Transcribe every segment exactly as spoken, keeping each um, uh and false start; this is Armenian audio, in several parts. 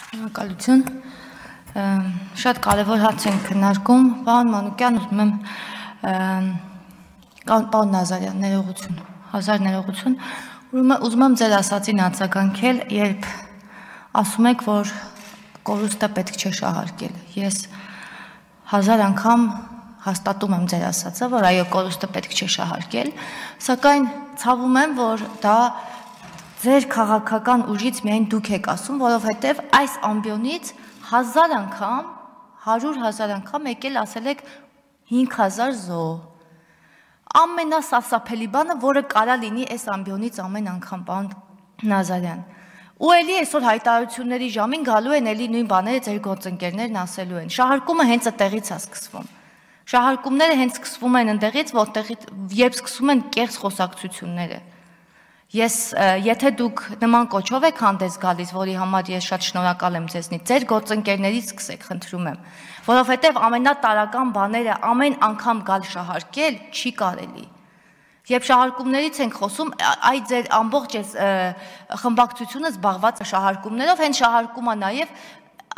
Շնորհակալություն, շատ կարևոր հարց ենք քննարկում, պարոն Մանուկյան, ուզում եմ պարոն Նազարյան, ներողություն, հազար ներողություն, ուզում եմ ձեր ասածին արձագանքել, երբ ասում եք, որ կորուստը պետք չէ շահարկել, ես հազար անգամ հաստատում եմ ձեր ասածը, որ այո, կորուստը պետք չէ շահարկել, սակայն ցավում եմ, որ դա ձեր քաղաքական ուժից միայն դուք եք ասում, որովհետև այս ամբիոնից հազար անգամ, հարյուր հազար անգամ եկել ասել եք հինգ հազար զոհ։ Ամենասարսափելի բանը, որը կարա լինի այս ամբիոնից ամեն անգամ, պարոն Նազարյան։ Ու էլի այսօր հայտարարությունների ժամին գալու են էլի նույն բաները ձեր գործընկերներն ասելու են։ Շահարկումը հենց այդտեղից է սկսվում։ Շահարկումները հենց սկսվում են այնտեղից, որտեղից երբ սկսվում են կեղծ խոսակցությունները։ Ես, եթե դուք նման կոչով եք հանդես գալիս, որի համար ես շատ շնորհակալ եմ ձեզնից, ձեր գործընկերներից սկսեք, խնդրում եմ, որովհետև ամենատարական բաները ամեն անգամ գալ շահարկել չի կարելի։ Երբ շահարկումներից ենք խոսում, այ ձեր ամբողջ խմբակցությունը զբաղված է շահարկումներով, հենց շահարկումը նաև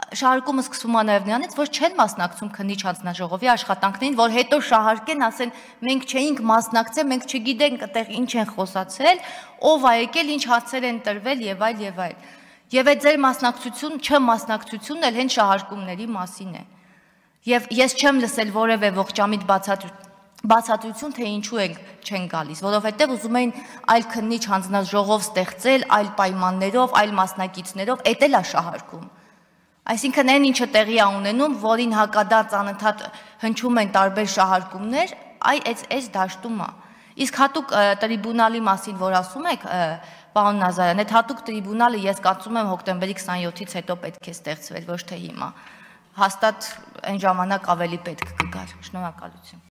Շահարկումը սկսվում է նաև նրանից, որ չեն մասնակցում քննիչ հանձնաժողովի աշխատանքներին, որ հետո շահարկեն, ասեն, մենք չէինք մասնակցել, մենք չգիտենք այդտեղ ինչ են խոսացել, ով է եկել, ինչ հարցեր են տրվել եւ այլ եւ այլ։ Եվ այդ ձեր մասնակցություն, չմասնակցությունն էլ հենց շահարկումների մասին է։ Եվ ես չեմ լսել որևէ ողջամիտ բացատրություն, թե ինչու են չեն գալիս, որովհետև ուզում էին այլ քննիչ հանձնաժողով ստեղծել, այլ պայմաններով, այլ մասնակիցներով, էդ էլ է շահարկում։ Այսինքն այն ինչը տեղի է ունենում, որին հակադարձ անընդհատ հնչում են տարբեր շահարկումներ, այ այս դաշտում է։ Իսկ հատուկ տրիբունալի մասին, որ ասում եք, պարոն Նազարյան, այդ հատուկ տրիբունալը ես կարծում եմ հոկտեմբերի քսանյոթից հետո պետք է ստեղծվել, ոչ թե հիմա։ Հաստատ այն ժամանակ ավելի պետք կգար։ Շնորհակալություն։